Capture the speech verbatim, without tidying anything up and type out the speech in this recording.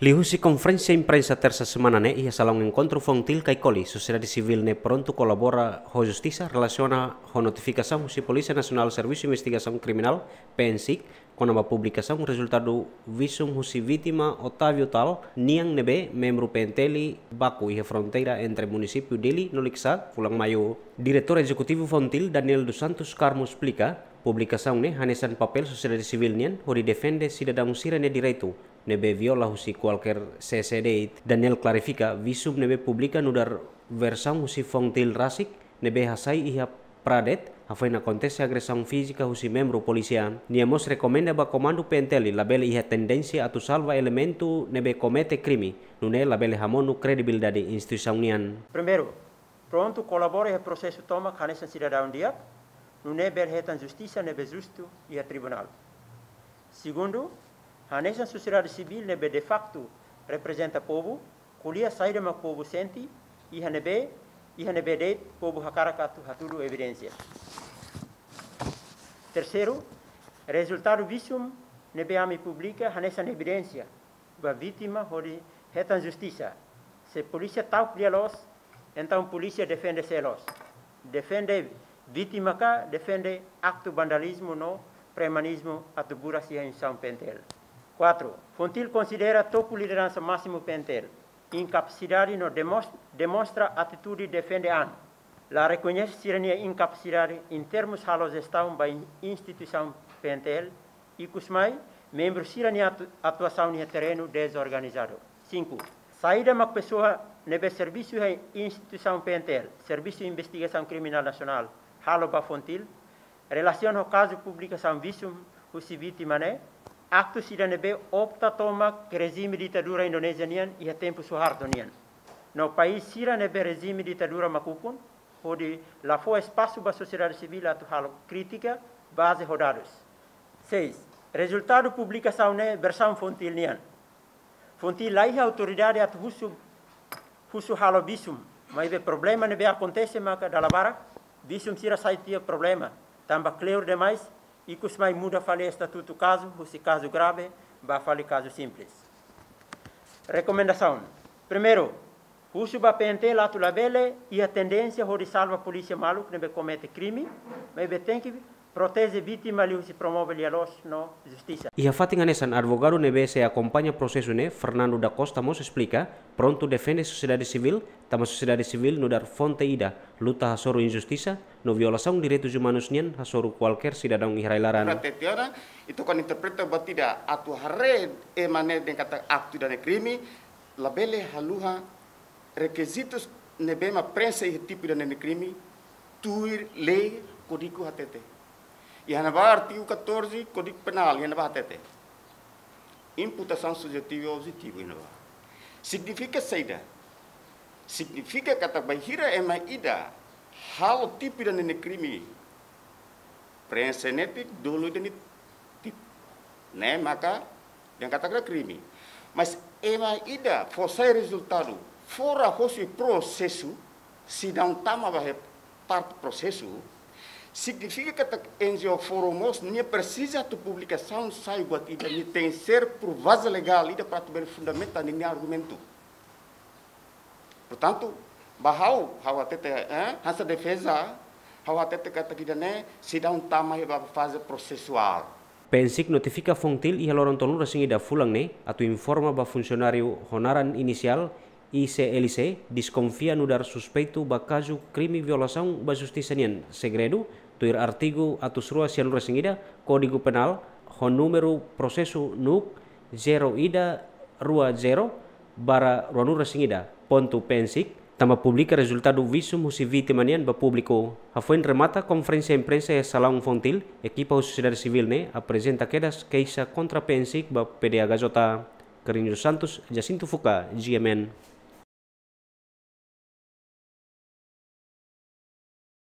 Liuhusi konferénsia imprensa tersa semana ne'e iha salaun enkontru Fontil Kaikoli, sosiedade sivíl ne'e prontu kolabora ho justisa relasiona ho notifikasaun husi Polísia Nasionál Servisu Investigasaun Kriminál, PNSIK, kona-ba publikasaun rezultadu visum husi vítima Otávio Tal nian ne'ebé membru PNTL baku iha fronteira entre munisípiu Dili no Likisá, fulan Maiu. Diretór Ezekutivu Fontil, Daniel dos Santos Carmo, esplika, publikasaun ne'e hanesan papél sosiedade sivíl nian hodi defende sidadaun sira-nia direitu ne'ebé viola husi kualkér C C D. Daniel klarifika, visum ne'ebé publika nu'udar versaun husi Fontil rasik ne'ebé hasai iha Pradet, hafoin akontese agresaun fízika husi membru polísia. Nia mós rekomenda ba komandu PNTL labele iha tendénsia atu salva elementu ne'ebé komete krime, nune'e labele hamonu kredibilidade instituisaun nian. Primeiru, prontu kolabora iha prosesu tomak hanesan sidadaun di'ak, nune'e bele hetan justisa ne'ebé justu iha tribunál. Segundu, hanesan sosiedade sivíl ne'ebé de facto reprezenta povu, ko'alia saida mak povu sente, iha ne'ebé, iha ne'ebé de'it povu hakarak atu hatudu evidénsia. Terseiru, rezultadu visum ne'ebé ami publika hanesan evidénsia ba vítima hodi hetan justisa. Se polísia ta'uk lia-loos, entaun polísia defende sé loos? Defende vítima ka defende aktu vandalizmu no premanizmu atu buras iha instituisaun PNTL? Kuatru, Fontil konsidera topu lideransa másimu PNTL inkapasidade no demos-, demonstra atitude defende an. La rekoñese sira-nia inkapasidade en termus halo jestaun ba in-, instituisaun PNTL, ikus mai, membru sira-nia atu-, atuasaun iha terrenu dezorganizadu. Sinku, saida mak pesoa ne'ebé servisu iha instituisaun PNTL, Servisu Investigasaun Kriminál Nasionál, halo ba Fontil relasiona ho kazu publikasaun visum husi vítima ne'e, aktu sira ne'ebé opta tomak rejime ditadura Indonézia nian iha tempu Suharto nian. No país sira ne'ebé rejime ditadura mak ukun, hodi la fó espasu ba sosiedade sivíl atu halo krítika baze ho dadus. Seis, rezultadu publikasaun ne'e versaun Fontil nian. Fontil laiha autoridade atu husu, husu halo visum, maibé problema ne'ebé akontese maka dala barak visum sira sai tiha problema, tanba kleur demais, ikus mai muda fali estatutu kazu, husi kazu grave ba fali kazu simples. Rekomendasaun. Primeiru, husu ba PNTL atu labele iha tendénsia hodi salva polísia maluk ne'ebé komete krime, maibé tenke proteje vítima liuhusi promove lia-loos no justisa. Iha fatin hanesan, advogadu ne'ebé sei akompaña prosesu ne'e, Fernando da Costa, mós esplika, prontu defende sosiedade sivíl, tanba sosiedade sivíl nu'udar fonte ida luta hasoru injustisa no violasaun direitus umanus nian hasoru kualkér sidadaun iha rai-laran. Para tetiana, ita kan interpreta buat ida atu haree ema ne'e dehan katak aktu ida-ne'e krime, labele haluha rekizitus ne'ebé mak prenxe iha tipu ida-ne'e krime, tuir lei Kódigu hatete. Iha ne'ebá artigu catorze Kódigu Penál, iha ne'ebá hatete. Imputasaun subjetiva e objetiva iha ne'ebá. Signifika saida? Signifika katak bainhira ema ida halo tipu ida-ne'e krime, prenxe netik, dolo ida-ne'e tipu. Ne'e maka dehan katak krime. Mas ema ida fó sai rezultadu fora hosi prosesu, sidadaun tama ba iha parte prosesu, signifika katak NGO Forum mós nia presiza atu publikasaun sai buat ida, nia tenke ser provas legál ida para atu bele fundamenta ninia argumentu. Portantu, ba ha'u, ha'u hatete, eh, hanesan defeza, ha'u hatete katak ida-ne'e sidadaun tama iha ba faze prosesuál. PNSIK notifika Fontil iha loron tolunulu-resin-ida fulan ne'e atu informa ba funsionáriu ho naran inisiál I C L C, deskonfia nu'udar suspeitu ba kazu krime violasaun ba justisa nian segredu, tuir artigu atus rua sianulu-resin-ida Kódigu Penál, ho númeru prosesu NUC zero ida rua zero barra ruanulu-resin-ida pontu PNSIK, tanba publika rezultadu visum husi vítima nian ba públiku. Hafoin remata konferénsia imprensa iha salaun Fontil, ekipa husi sosiedade sivíl ne'e aprezenta kedas keixa kontra PNSIK ba PDHJ. Carlinhos Santos, Jacinto Fuca, G M N.